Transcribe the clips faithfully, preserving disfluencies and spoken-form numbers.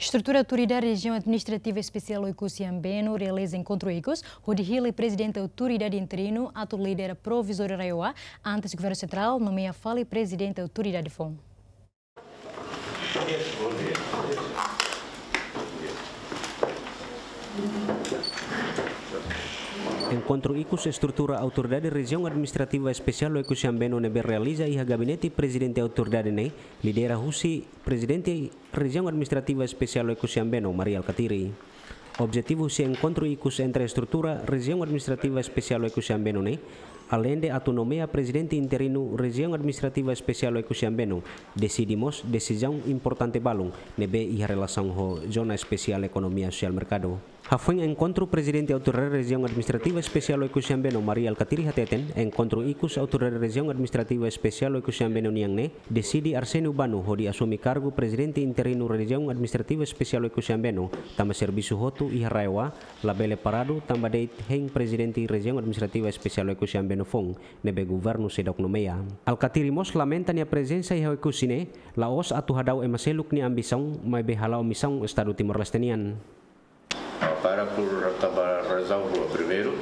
Estrutura Autoridade Rejiaun Administrativa Espesiál Oekusi Ambeno realiza enkontru ikus, hodi hili Prezidente Autoridade Interinu atu lidera provizóriu RAEOA, antes Governu Sentrál nomeia fali Prezidente Autoridade foun. Enkontru ikus estrutura Autoridade Rejiaun Administrativa Espesiál Oekusi Ambeno ne'ebé realiza iha gabinete Prezidente Autoridade ne'e, lidera husi Prezidente Rejiaun Administrativa Espesiál Oekusi Ambeno, Mari Alkatiri. Objetivu husi enkontru ikus entre estrutura Rejiaun Administrativa Espesiál Oekusi Ambeno ne'e, aleinde atu nomeia Prezidente Interinu Rejiaun Administrativa Espesiál Oekusi Ambeno, deside mós desizaun importante balun ne'ebé iha relasaun ho Zona Espesiál Ekonomia Sosiál Merkadu. Hafoin enkontru, Prezidente Autoridade Rejiaun Administrativa Espesiál Oekusi Ambeno, Mari Alkatiri hateten, enkontru ikus Autoridade Rejiaun Administrativa Espesiál Oekusi Ambeno nian ne'e deside Arsénio Bano hodi asume kargu Prezidente Interinu Rejiaun Administrativa Espesiál Oekusi Ambeno, tanba servisu hotu iha RAEOA labele paradu tanba de'it hein Prezidente Rejiaun Administrativa Espesiál Oekusi Ambeno foun ne'ebé Governu seidauk nomeia. Alkatiri mós lamenta nia prezensa iha Oekusi ne'e la'ós atu hadau ema seluk nia ambisaun, maibé hala'o misaun Estadu Timor-Leste nian. Para por, tanba razaun rua. Primeiru,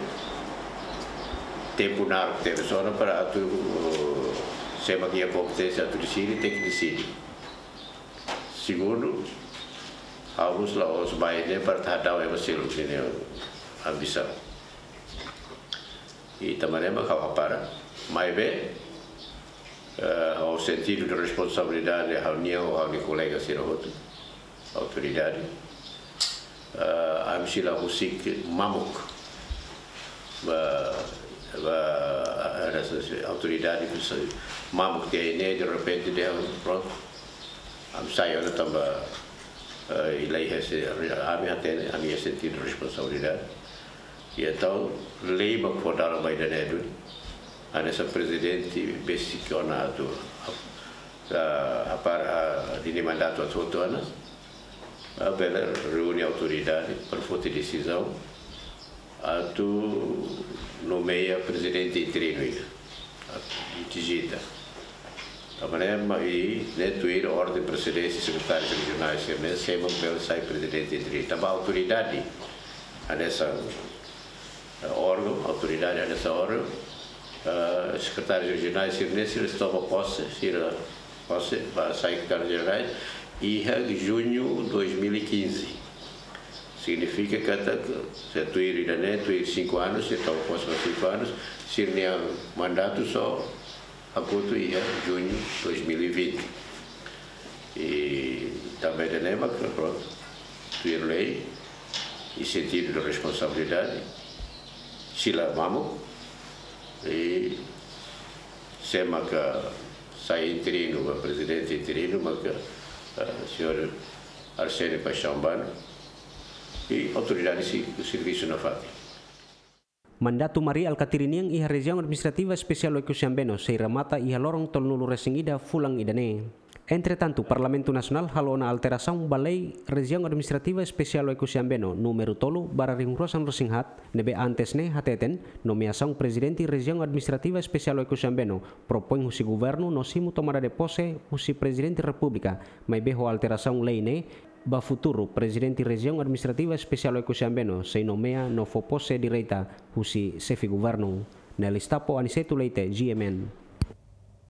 tempu naruk tebes ona para atu, eh, sé mak iha kompeténsia atu deside, tenke deside. Segundu, ha'u mós la'ós mai ne'e para atu hadau ema seluk nia ambisaun. I tanba ne'e mak ha'u hapara, maibé, eh, ho sentidu de responsabilidade ha'u-nian ho ha'u-nia kolega sira hotu, autoridade, eh, ami sei la husik mamuk ba, ba, eh, autoridade, mamuk tiha ne'e derrepente dehan prontu, ami sai ona tanba, eh, i la iha se, ami hatene, ami iha sentidu de responsabilidade. I entaun, lei mak fó dalan ba ida-ne'e duni. Hanesan prezidente besik ona atu, ah, ah, para, ah, dini mandatu atu hotu ona, ah, bele reúne autoridade para foti desizaun atu nomeia prezidente interinu ida. Atu dizita. Tanba ne'e mak i ne'e tuir orden presidénsia sekretáriu rejionál sira-ne'e, sé mak bele sai prezidente interinu. Tanba autoridade hanesan, eh, órgaun, autoridade hanesan órgaun, eh, sekretáriu rejionál sira-ne'e, sira toma pose, sira pose ba sai sekretáriu rejionál iha juñu dois mil e quinze. Signifika katak, se tuir ida-ne'e, tuir cinco anos, se toma pose ba cinco anos, sira-nia mandatu só hakotu iha juñu dois mil e vinte. I tanba ida-ne'e mak, prontu, tuir lei i sentidu de responsabilidade, sei la mamuk, i sé mak sai interinu, ba prezidente interinu, mak, eh, señór Arsénio Paixão Bano, i autoridade sei servisu nafatin. Mandatu Mari Alkatiri nian iha Rejiaun Administrativa Espesiál Oekusi Ambeno sei remata iha loron tolunulu-resin-ida fulan ida-ne'e. Entretantu, Parlamentu Nasionál halo ona alterasaun ba Lei Rejiaun Administrativa Espesiál Oekusi Ambeno númeru tolu barra rihun rua sanulu-resin-haat, ne'ebé antes ne'e hateten nomeasaun Prezidente Rejiaun Administrativa Espesiál Oekusi Ambeno propoin husi Governu no simu tomada de pose husi Prezidente Repúblika, maibé ho alterasaun lei ne'e, ba futuru, Prezidente Rejiaun Administrativa Espesiál Oekusi Ambeno sei nomeia no fó pose direta husi Xefe Governu. Nelis Tapo, Aniceto Leite, G M N.